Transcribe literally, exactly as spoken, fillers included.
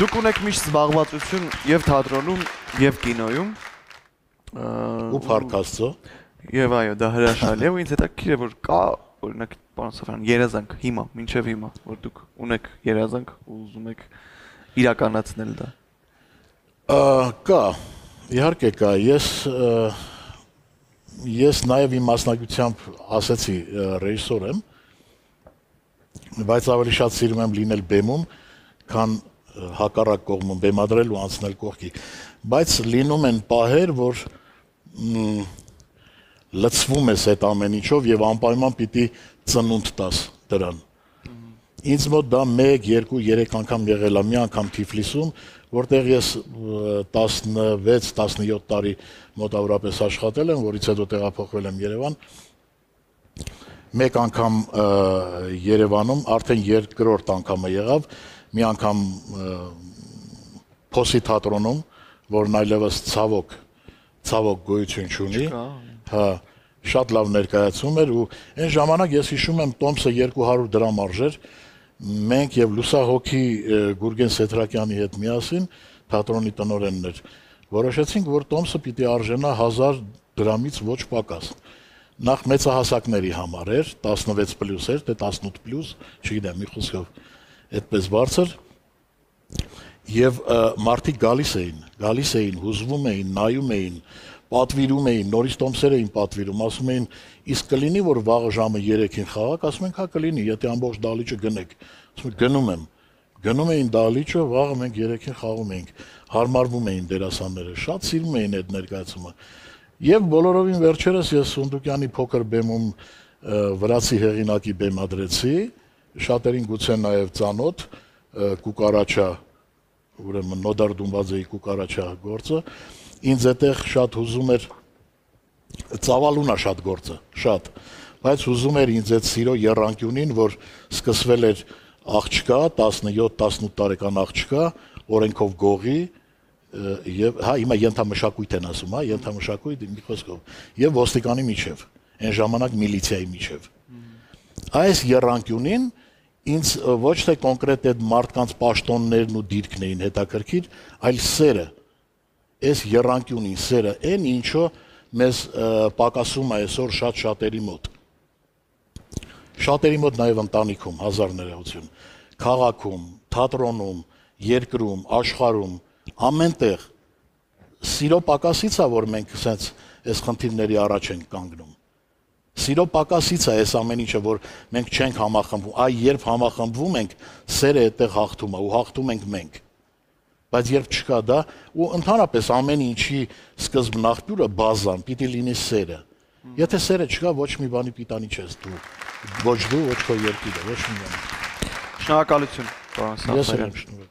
Դուք ունեք միշտ զբաղվածություն եւ թատրոնում եւ կինոյում ու Փառք Աստծո եւ այո դա հրաշալի է ու ինձ հետաքրքիր է որ կա օրինակ պարոն Սաֆարյան երազանք հիմա մինչեւ հիմա որ դուք ունեք երազանք ու ուզում եք իրականացնել դա կա իհարկե կա ես ես նաեւ իմ մասնագիտությամբ ասեցի ռեժիսոր եմ բայց ավելի շատ սիրում եմ լինել բեմում քան հակառակ կողմում բեմադրել ու անցնել կողքի բայց լինում են պահեր որ լցվում ես այդ ամեն ինչով եւ անպայման պիտի ծնունդ տաս դրան ինձ մոտ դա մեկ, երկու, երեք անգամ եղել է մի անգամ Թիֆլիսում որտեղ ես տասնվեց տասնյոթ տարի մոտավորապես աշխատել եմ որից հետո տեղափոխվել եմ Երևան մեկ անգամ Երևանում արդեն երկրորդ անգամը եղավ մի անգամ Փոսի թատրոնում, որն այլևս ցավոք, ցավոք գոյություն չունի, հա, շատ լավ ներկայացում էր ու այն ժամանակ ես հիշում եմ Տոմսը երկու հարյուր դրամ արժեր, մենք եւ Լուսահոգի Գուրգեն Սեթրակյանի հետ միասին թատրոնի տնօրենն էր, որոշեցինք, որ Տոմսը պիտի արժենա հազար դրամից ոչ պակաս։ Նախ մեծահասակների համար էր, տասնվեց պլյուս էր, թե տասնութ պլյուս, չգիտեմ, մի խոսքով այդպես բարձր եւ մարդիկ գալիս էին, գալիս էին, հուզվում էին, նայում էին, պատվիրում էին, նորից տոմսեր էին պատվիրում, ասում էին, իսկ կլինի որ վաղը ժամը երեքին խաղաք, ասում ենք, հա կլինի, եթե ամբողջ դահլիճը գնեք։ Ասում եմ, գնում եմ։ Գնում էին դահլիճը, վաղը մենք երեքին խաղում էինք, հարմարվում էին դերասանները, շատ սիրում էին այդ ներկայացումը։ Եվ բոլորովին վերջերս ես Սունդուկյանի փոքր բեմում վրացի հեղինակի բեմադրեցի Շատերին գուցե նաև ծանոթ Կուկարաչա, ուրեմն Նոդար Դումբաձեի Կուկարաչա գործը, ինձ այդտեղ շատ հուզում էր ծավալուն է շատ գործը, շատ, բայց հուզում էր ինձ այդ սիրո եռանկյունին, որ սկսվել էր աղջկա, տասնյոթ տասնութ տարեկան աղջկա, օրենքով գողի, եւ հա հիմա ենթամշակույթ են ասում, հա, ենթամշակույթ մի խոսքով, եւ ոստիկանի միջև, այն ժամանակ միլիցիայի միջև։ Այս եռանկյունին ինձ ոչ թե կոնկրետ այդ մարդկանց պաշտոններն ու դիրքն էին հետաքրքիր, այլ սերը, այս եռանկյունին սերը, այն ինչը մեզ պակասում է այսօր շատ շատերի մոտ։ Շատերի մոտ նաև ընտանիքում, հազար ներողություն, քաղաքում, թատրոնում, երկրում, աշխարհում, ամենտեղ սիրո պակասից է, որ մենք ասենց այս խնդիրների առաջ ենք կանգնում։ Սիրո պակասից է այս ամեն ինչը, որ մենք չենք համախմբվում, այ երբ համախմբվում ենք, սերը այդտեղ հաղթում է ու հաղթում ենք մենք։ Բայց երբ չկա դա, ու ընդհանրապես ամեն ինչի սկզբն աղբյուրը բազան, պիտի լինի սերը։ Եթե սերը չկա, ոչ մի բանի պիտանի չես դու, ոչ դու, ոչ քո երկիրը, ոչ մի բան։ Շնորհակալություն, պարոն Սաֆարյան։